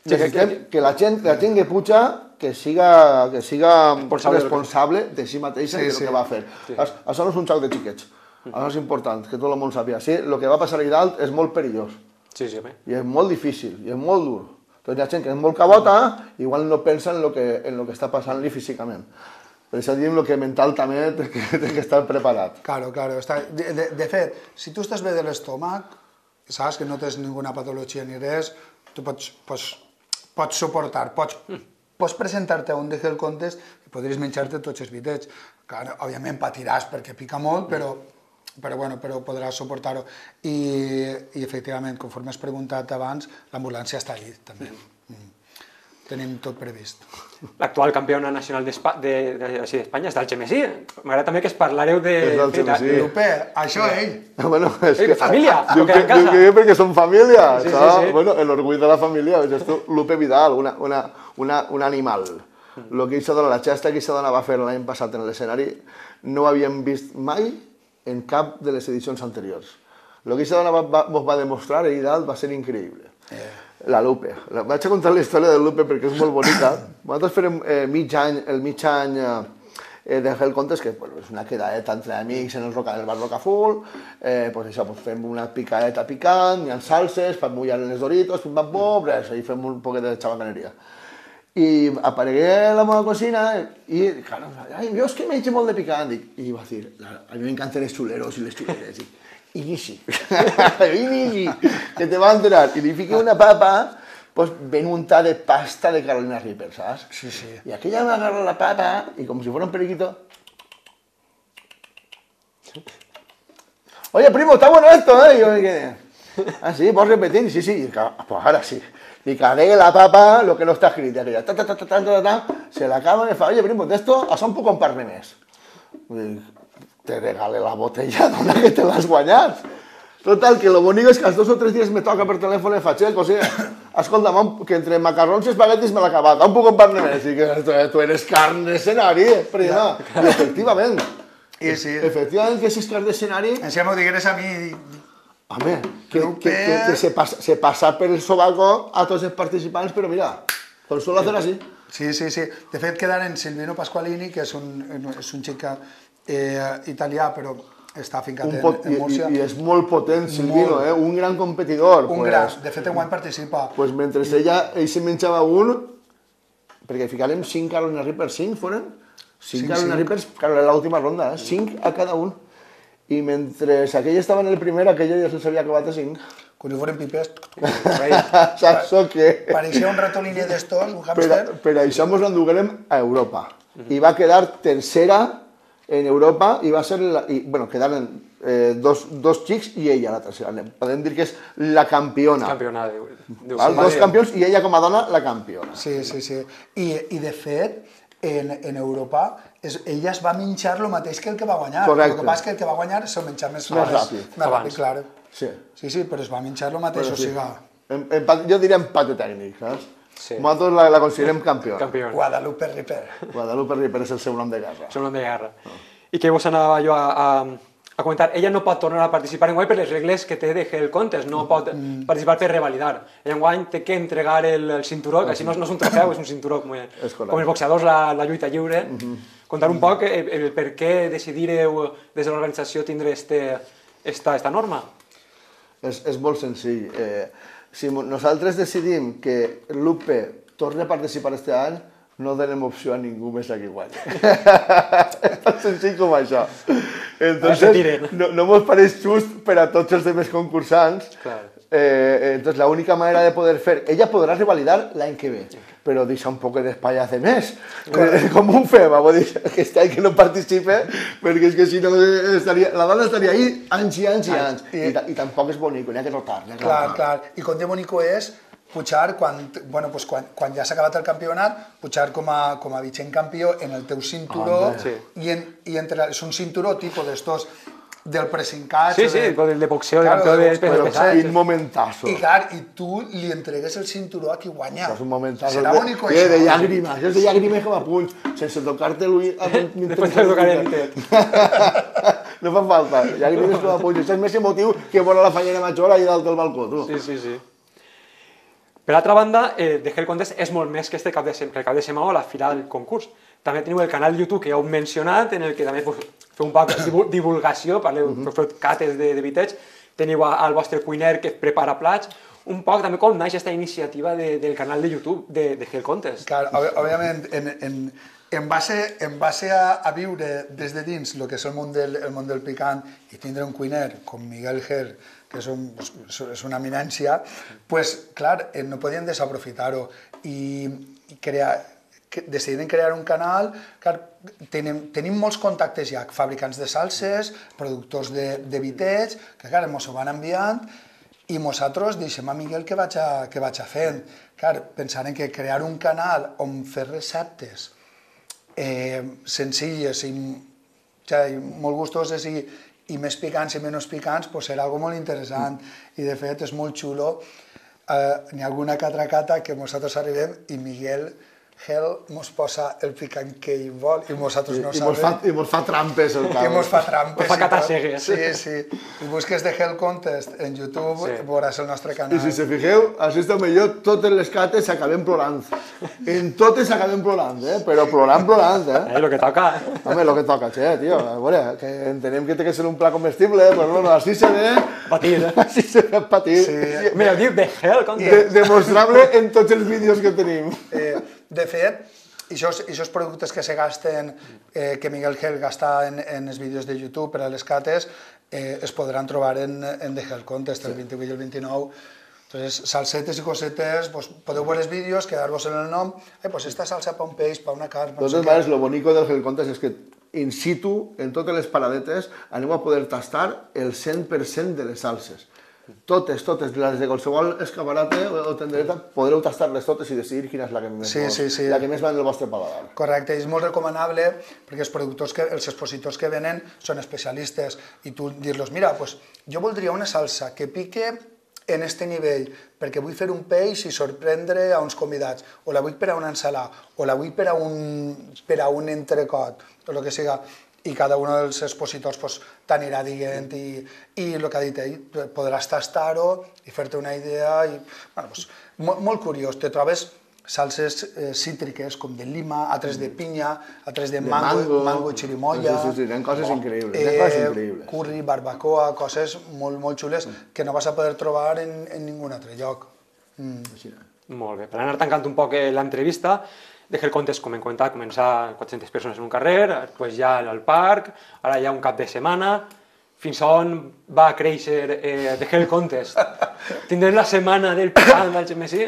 [SPEAKER 3] necessitem que la gent, la gent que puja que siga, que siga responsable, responsable de si mateixa sí, i del sí. que va fer. Sí. Això no és un xoc de xiquets. Això és important, que tot el món sàpiga. Sí, el que va passar allà dalt és molt perillós.
[SPEAKER 1] Sí, sí, bé.
[SPEAKER 3] I és molt difícil, i és molt dur. Doncs hi ha gent que és molt cabota, igual no pensa en el que, en lo que està passant-li físicament. Per això diem que mental també té que, té que estar preparat.
[SPEAKER 2] Claro, claro. Està... De, de, de fet, si tu estàs bé de l'estómac, saps que no tens ninguna patologia ni res, tu pots, pots, pots suportar, pots, pots presentar-te a un D G del Contest i podries menjar-te tots els bitets. Clar, òbviament patiràs perquè pica molt, però, però, bueno, però podràs suportar-ho. I, I, efectivament, conforme has preguntat abans, l'ambulància està allí, també. Mm. Tenim tot previst.
[SPEAKER 1] L'actual campiona nacional d'Espanya està el Xemesí. M'agrada també que es parlareu de...
[SPEAKER 3] És el Xemesí.
[SPEAKER 2] Lupe, això ell.
[SPEAKER 3] Bueno, és
[SPEAKER 1] que... Família,
[SPEAKER 3] diu que, diu que perquè són família. Sí, sí, sí. Bueno, l'orgull de la família. És tu, Lupe Vidal, una, una, una, un animal. El que aquesta dona, la xesta que aquesta dona va fer l'any passat en l'escenari, no ho havíem vist mai en cap de les edicions anteriors. El que aquesta dona va, va, va demostrar ahir dalt va ser increïble. Eh. La Lupe. La, vaig a contar la història de Lupe perquè és molt bonica. Nosaltres farem eh, mig any, el mig any eh, de Hell Contest, que bueno, és una quedadeta entre amics en el, roca, en el bar Rocafull, eh, pues això, pues fem una picadeta picant, hi ha salses, per mullar en les Doritos, pim pam pum, res, i fem un poquet de xabacaneria. I aparegué a la meva cocina i, claro, ai, jo és que menjo molt de picant, dic, i va dir, a mi m'encanten els xuleros i les xuleres, dic, Inici, inici, que te va a enterar. Y le fiqué una papa, pues ven untada de pasta de Carolina Reaper, ¿sabes?
[SPEAKER 2] Sí, sí.
[SPEAKER 3] Y aquella me agarra la papa y como si fuera un periquito. Oye, primo, está bueno esto, ¿eh? Y yo me quedé. Ah, sí, ¿puedo repetir? Sí, sí. Y, pues ahora sí. Y cargué la papa, lo que no está escrito. Aquella, ta, ta, ta, ta, ta, ta, ta, se la acaba y me fa, oye, primo, de esto, això un poc en parle més. Te regale la botella, dona que te l'has guanyat. Total, que lo bonico es que als dos o tres dies me toca per telèfon i faig, eh, José, escolta, que entre macarrons i espaguetis me l'ha acabat, un puc compartir més? I que tu eres carn d'escenari, prima. I efectivament.
[SPEAKER 2] I sí.
[SPEAKER 3] Efectivament que si és carn d'escenari...
[SPEAKER 2] Si m'ho digueres a mi...
[SPEAKER 3] Home, que, que, que, que se, passa, se passa per el sobaco a tots els participants, però mira, con solo hacer así.
[SPEAKER 2] Sí, sí, sí. De fet, quedaren Silvino Pasqualini, que és un, és un xic eh, italià, però està fincat en, en Múrcia.
[SPEAKER 3] I, I és molt potent, Silvino, eh? Un gran competidor.
[SPEAKER 2] Un
[SPEAKER 3] pues,
[SPEAKER 2] gran, de fet, enguany participa.
[SPEAKER 3] Pues mentre I... ella, ell se menjava un, perquè ficarem cinc Carolina Reapers, cinc foren? Cinc Carolina Reapers, claro, en l'última ronda, eh? Cinc a cada un. I mentre aquell estava en el primer, aquell ja se'ls havia acabat a cinc.
[SPEAKER 2] Quan hi foren pipes...
[SPEAKER 3] Saps o què?
[SPEAKER 2] Pareixia un ratoliner d'estos, un hàmster.
[SPEAKER 3] Per, per això ens l'enduguérem a Europa. I va quedar tercera en Europa i va ser... La, i, bueno, quedaren eh, dos, dos xics i ella la tercera. Podem dir que és la campiona.
[SPEAKER 1] Campiona, diu. diu
[SPEAKER 3] Val? Dos campions i ella com a dona la campiona.
[SPEAKER 2] Sí, sí, sí. I, i de fet, en, en Europa, es, ella es va menjar el mateix que el que va guanyar.
[SPEAKER 3] Correcte.
[SPEAKER 2] El que passa és que el que va guanyar se'l menjar més,
[SPEAKER 3] més ràpid.
[SPEAKER 2] Més ràpid, clar.
[SPEAKER 3] Sí.
[SPEAKER 2] Sí, sí, però es va menjar el mateix,
[SPEAKER 3] Però
[SPEAKER 2] o sigui...
[SPEAKER 3] En, en, jo diria empate tècnic, saps?
[SPEAKER 1] Sí.
[SPEAKER 3] Nosaltres la, la considerem campiona.
[SPEAKER 1] Campiona.
[SPEAKER 2] Guadalupe Ripper.
[SPEAKER 3] Guadalupe Ripper és el seu nom de guerra.
[SPEAKER 1] És un nom de guerra. Oh. I que vos anava jo a, a, a comentar, ella no pot tornar a participar enguany per les regles que té de Hell Contest, no pot mm. participar per revalidar. Ella enguany té que entregar el, el cinturó, que així no, no és un trofeu, és un cinturó com, com els boxeadors, la, la lluita lliure. Mm -hmm. Contar un poc el, el per què decidireu des de l'organització tindre este, esta, esta norma.
[SPEAKER 3] És, és molt senzill. Eh, si nosaltres decidim que Lupe torni a participar este any, no donem opció a ningú més a que guanyi. És tan senzill com això. Entonces, no, no mos pareix just per a tots els demés concursants.
[SPEAKER 1] Claro.
[SPEAKER 3] Eh, entonces, la única manera de poder fer... Ella podrà revalidar l'any que ve, però deixa un poc d'espai a fer més. Eh, com un fem, vull dir, aquest any que no participe, perquè és que si no estaria... La dona estaria ahí anys i anys i anys. I, i, i tampoc és bonico, n'hi ha que rotar.
[SPEAKER 2] Clar, clar. I com de bonico és pujar, quan, bueno, pues quan, quan ja s'ha acabat el campionat, pujar com a, com a vigent campió en el teu cinturó,
[SPEAKER 1] ah, sí.
[SPEAKER 2] i, en, i entre, és un cinturó tipus d'estos del pressing-catch.
[SPEAKER 1] Sí, sí,
[SPEAKER 2] de,
[SPEAKER 1] el de boxeo,
[SPEAKER 2] claro,
[SPEAKER 1] de campió de, de,
[SPEAKER 3] però
[SPEAKER 1] de pesats.
[SPEAKER 3] Quin momentazo.
[SPEAKER 2] I clar, i tu li entregues el cinturó a qui guanya.
[SPEAKER 3] Això és un momentazo.
[SPEAKER 2] Serà bonico,
[SPEAKER 3] això. De llàgrimes, això és de llàgrimes com a punys, sense tocar-te l'ull.
[SPEAKER 1] Després te tocaré el tet.
[SPEAKER 3] No fa falta, llàgrimes com a punys. Això és més emotiu que veure la fallera major allà dalt del balcó, tu.
[SPEAKER 1] Sí, sí, sí. Per altra banda, eh, The Hell Contest és molt més que este cap de, que el cap de setmana o la fila del concurs. També teniu el canal YouTube que ja heu mencionat, en el que també pues, feu un poc de divulgació, parleu, uh -huh. feu cates de, de vitets, teniu al vostre cuiner que prepara plats, un poc també com naix aquesta iniciativa de, del canal de YouTube de, de Hell Contest.
[SPEAKER 2] Clar, òbviament, en, en, en base, en base a, a viure des de dins el que és el món del, el món del picant i tindre un cuiner com Miguel Gel, que és, un, és una eminència, pues, clar, no podien desaprofitar-ho i, i crear, que decidiren crear un canal. Clar, tenim, tenim molts contactes ja, fabricants de salses, productors de, de vitets, que clar, ens ho van enviant i nosaltres deixem a Miguel que vaig a, que vaig a fent. Clar, pensant que crear un canal on fer receptes eh, senzilles i, ja, i molt gustoses i, i més picants i menys picants, pues serà algo molt interessant. I de fet és molt xulo. Eh, N'hi ha alguna catracata que nosaltres arribem i Miguel Gel mos posa el picant que ell vol i nosaltres no
[SPEAKER 3] I,
[SPEAKER 2] sabem.
[SPEAKER 3] I mos fa, i mos fa trampes el
[SPEAKER 2] I mos fa trampes.
[SPEAKER 1] Mos fa catassegues.
[SPEAKER 2] Sí, sí. I busques The Hell Contest en YouTube, sí. Veuràs el nostre canal.
[SPEAKER 3] I si se fixeu, així està millor, totes les cates s'acabem plorant. En totes s'acabem plorant, eh? Però plorant, plorant, eh?
[SPEAKER 1] Eh, lo que toca.
[SPEAKER 3] Home, lo que toca, che, tio. A veure, que entenem que té que ser un plat comestible, però bueno, així se ve...
[SPEAKER 1] Patir, eh?
[SPEAKER 3] Així se ve patir.
[SPEAKER 2] Sí.
[SPEAKER 1] Mira, diu The Hell Contest.
[SPEAKER 3] De, demostrable en tots els vídeos que tenim.
[SPEAKER 2] Eh, de fet, aquests productes que se gasten, eh, que Miguel Gel gasta en, en els vídeos de YouTube per a les cates, eh, es podran trobar en, en The Hell Contest, el vint-i-vuit i el vint-i-nou. Entonces, salsetes i cosetes, pues, podeu veure els vídeos, quedar-vos en el nom, eh, pues esta salsa pa un peix, pa una carn...
[SPEAKER 3] De totes maneres, lo bonico del Hell Contest és que in situ, en totes les paradetes, anem a poder tastar el cent per cent de les salses. Totes, totes, les de qualsevol escaparate o tendereta, podreu tastar-les totes i decidir quina és la que més,
[SPEAKER 2] Sí,
[SPEAKER 3] vos-
[SPEAKER 2] sí, sí.
[SPEAKER 3] la que més va en el vostre paladar.
[SPEAKER 2] Correcte, és molt recomanable perquè els productors, que, els expositors que venen són especialistes i tu dir-los, mira, pues, jo voldria una salsa que pique en este nivell perquè vull fer un peix i sorprendre a uns convidats, o la vull per a una ensalada, o la vull per a un, per a un entrecot, o el que siga, i cada un dels expositors pues, t'anirà dient i, i el que ha dit ell, podràs tastar-ho i fer-te una idea. I, bueno, pues, molt, molt curiós, te trobes salses eh, cítriques com de lima, altres de pinya, altres de,
[SPEAKER 3] De
[SPEAKER 2] mango,
[SPEAKER 3] mango.
[SPEAKER 2] mango chirimoya,
[SPEAKER 3] Sí, sí, sí, eren coses increïbles,
[SPEAKER 2] eh,
[SPEAKER 3] eren coses increïbles.
[SPEAKER 2] curri, barbacoa, coses molt, molt xules que no vas a poder trobar en, en ningun altre lloc. Mm.
[SPEAKER 3] Així, eh?
[SPEAKER 1] Molt bé, per anar tancant un poc eh, l'entrevista, Dejé el Contest, com hem comentat, començar quatre-centes persones en un carrer, després ja al parc, ara ja un cap de setmana, fins on va créixer eh, Dejé el Contest? Tindrem la setmana del picant del Gemesí?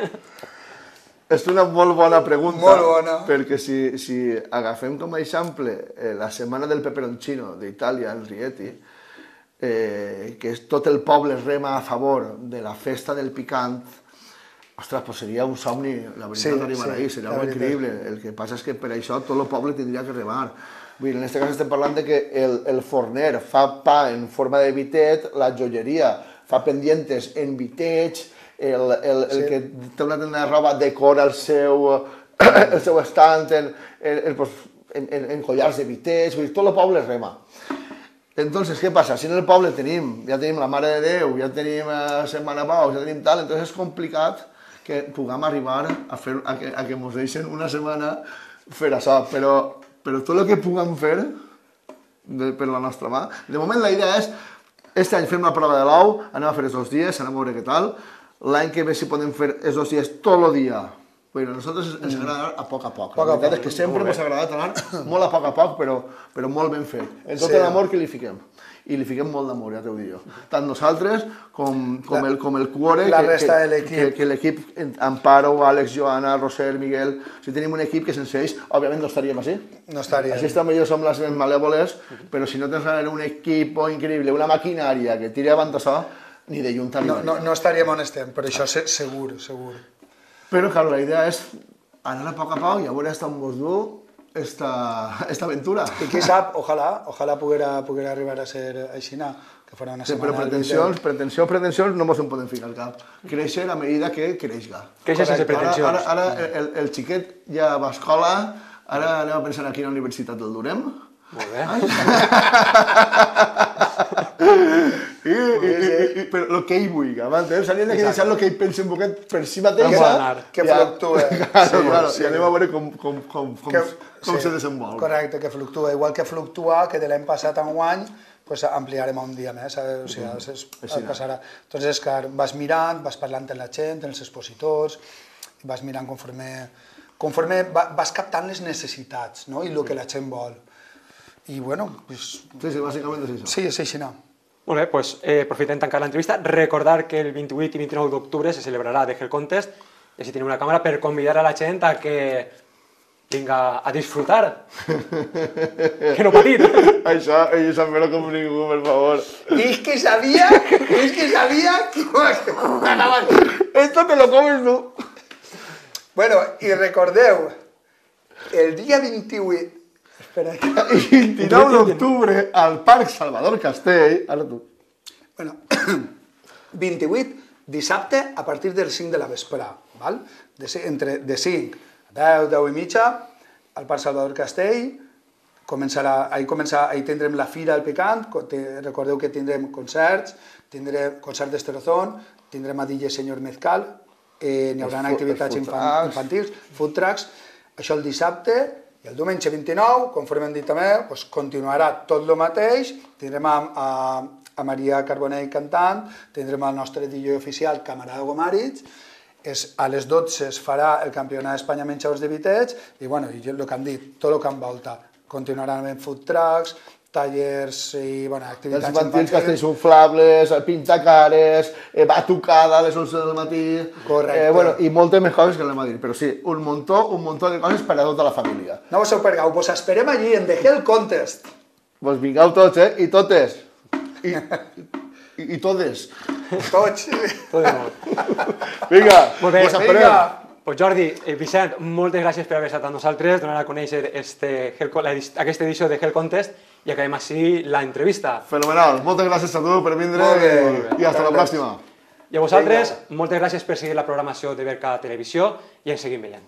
[SPEAKER 3] És una molt bona pregunta,
[SPEAKER 2] Molt bona.
[SPEAKER 3] perquè si, si agafem com a exemple eh, la setmana del peperoncino d'Itàlia, en Rieti, eh, que és tot el poble rema a favor de la festa del picant, ostres, pues seria un somni, la veritat,
[SPEAKER 2] Sí,
[SPEAKER 3] arribar
[SPEAKER 2] sí,
[SPEAKER 3] ahí, seria
[SPEAKER 2] la
[SPEAKER 3] molt
[SPEAKER 2] veritat.
[SPEAKER 3] increïble. El que passa és que per això tot el poble tindria que remar. Vull dir, en aquest cas estem parlant de que el, el forner fa pa en forma de vitet, la joieria fa pendientes en vitets, el, el, el
[SPEAKER 2] Sí.
[SPEAKER 3] que té una tenda de roba decora el seu, el seu estant en, en, en, pues, en, en, en collars de vitets, vull dir, tot el poble rema. Entonces, què passa? Si en el poble tenim, ja tenim la Mare de Déu, ja tenim eh, Setmana Pau, ja tenim tal, entonces és complicat que puguem arribar a, fer, a, que, a que mos deixen una setmana fer això, però, però tot el que puguem fer de, per la nostra mà, de moment la idea és, este any fem la prova de l'ou, anem a fer els dos dies, anem a veure què tal, l'any que ve si podem fer els dos dies tot el dia. Bueno, a nosaltres ens agrada anar a poc a poc.
[SPEAKER 2] Poc a
[SPEAKER 3] La veritat
[SPEAKER 2] poc,
[SPEAKER 3] és que sempre ens ha agradat anar molt a poc a poc, però, però molt ben fet. En tot
[SPEAKER 2] Sí.
[SPEAKER 3] l'amor que li fiquem. I li fiquem molt d'amor, ja t'ho dic jo. Tant nosaltres com, com,
[SPEAKER 2] La-
[SPEAKER 3] el, com el Cuore,
[SPEAKER 2] la
[SPEAKER 3] que,
[SPEAKER 2] resta
[SPEAKER 3] que,
[SPEAKER 2] de l'equip.
[SPEAKER 3] que, que l'equip, Amparo, Àlex, Joana, Roser, Miguel, si tenim un equip que sense ells, òbviament no estaríem així.
[SPEAKER 2] No estaria.
[SPEAKER 3] Així també jo som les més malèvoles, però si no tens un equip increïble, una maquinària que tiri avant això, ni de lluny
[SPEAKER 2] No,
[SPEAKER 3] t'arribaria.
[SPEAKER 2] no, no estaríem on estem, per això se- segur, segur.
[SPEAKER 3] Però, clar, la idea és anar a poc a poc i a veure hasta on vos du esta, esta aventura.
[SPEAKER 2] I qui sap, ojalà, ojalà poguera, poguera arribar a ser aixina, que farà una
[SPEAKER 3] Sí,
[SPEAKER 2] setmana...
[SPEAKER 3] però pretensions, pretensions, pretensions no mos en podem ficar al cap. Créixer a medida que creixga.
[SPEAKER 1] Creixer sense
[SPEAKER 3] Ara,
[SPEAKER 1] pretensions.
[SPEAKER 3] ara, ara el, el xiquet ja va a escola, ara anem a pensar aquí a la universitat el durem.
[SPEAKER 1] Molt bé.
[SPEAKER 3] I, i, i, i, però el que ell vulgui, m'entens? S'hauria de deixar el que ell pensa un poquet per si mateix.
[SPEAKER 1] Com va anar?
[SPEAKER 2] Que fluctua.
[SPEAKER 3] Claro,
[SPEAKER 2] Sí,
[SPEAKER 3] claro,
[SPEAKER 2] sí.
[SPEAKER 3] i anem a veure com, com, com, com,
[SPEAKER 2] Que-
[SPEAKER 3] com
[SPEAKER 2] sí,
[SPEAKER 3] se desenvolpa.
[SPEAKER 2] Correcte, que fluctua. Igual que fluctua, que de l'any passat a enguany, pues ampliarem a un dia més, eh? O sigui, es, es,
[SPEAKER 3] Així
[SPEAKER 2] es passarà. Entonces, clar, vas mirant, vas parlant amb la gent, amb els expositors, vas mirant conforme, conforme va, vas captant les necessitats, no? I el que la gent vol. I bueno, pues,
[SPEAKER 3] Sí, sí, bàsicament és això.
[SPEAKER 2] sí, és així, no?
[SPEAKER 1] Molt bé, doncs, eh, aprofitem tancar l'entrevista. Recordar que el vint-i-vuit i vint-i-nou d'octubre se celebrarà Dejé el Contest, i així tenim una càmera per convidar a la gent a que vinga a disfrutar. Que no patir.
[SPEAKER 3] Això, ell sap més com ningú, per favor.
[SPEAKER 2] És que sabia, és que sabia que m'anaven.
[SPEAKER 3] Esto te lo comes tú.
[SPEAKER 2] Bueno, i recordeu, el dia vint-i-vuit... Espera,
[SPEAKER 3] I vint-i-nou d'octubre, al Parc Salvador Castell, ara tu.
[SPEAKER 2] bueno, vint-i-vuit, dissabte, a partir del cinc de la vesprà, val? De, ci- entre, de cinc a deu, deu i mitja, al Parc Salvador Castell, començarà, ahir, començarà, ahir tindrem la Fira del Picant, co- te- recordeu que tindrem concerts, tindrem concert d'Esterozón, tindrem a D J Senyor Mezcal, eh, n'hi haurà
[SPEAKER 3] Els fu-
[SPEAKER 2] activitats
[SPEAKER 3] els food
[SPEAKER 2] infan,
[SPEAKER 3] trucks.
[SPEAKER 2] infantils, food trucks, això el dissabte, i el diumenge vint-i-nou, conforme hem dit també, doncs continuarà tot el mateix, tindrem a, a, a Maria Carbonell cantant, tindrem el nostre D J oficial, Camarada Gomaritz, és, a les dotze es farà el Campionat d'Espanya Menjadors de Vitets, i bueno, i el que han dit, tot el que envolta. Continuaran amb food trucks, tallers i bueno,
[SPEAKER 3] Els
[SPEAKER 2] activitats
[SPEAKER 3] infantils, castells inflables, pintacares, eh, batucada a les onze del matí...
[SPEAKER 2] Correcte.
[SPEAKER 3] Eh, bueno, i moltes més coses que anem a dir, però sí, un muntó, un muntó de coses per a tota la família.
[SPEAKER 2] No vos ho perdeu, vos esperem allí en The Hell Contest.
[SPEAKER 3] Vos vingueu tots, eh? I totes. I i, i totes.
[SPEAKER 2] Tots.
[SPEAKER 1] Tot de molt.
[SPEAKER 3] Vinga,
[SPEAKER 1] Molt bé,
[SPEAKER 3] pues esperem.
[SPEAKER 1] Pues Jordi, eh, Vicent, moltes gràcies per haver estat amb nosaltres, donar a conèixer este, Hell- la edi- aquesta edició de Hell Contest i acabem així l'entrevista.
[SPEAKER 3] Fenomenal. Moltes gràcies a tu per vindre
[SPEAKER 2] Molt bé,
[SPEAKER 3] i,
[SPEAKER 2] molt bé.
[SPEAKER 3] i hasta la pròxima.
[SPEAKER 1] I a vosaltres, moltes gràcies per seguir la programació de Berca Televisió i ens seguim veient.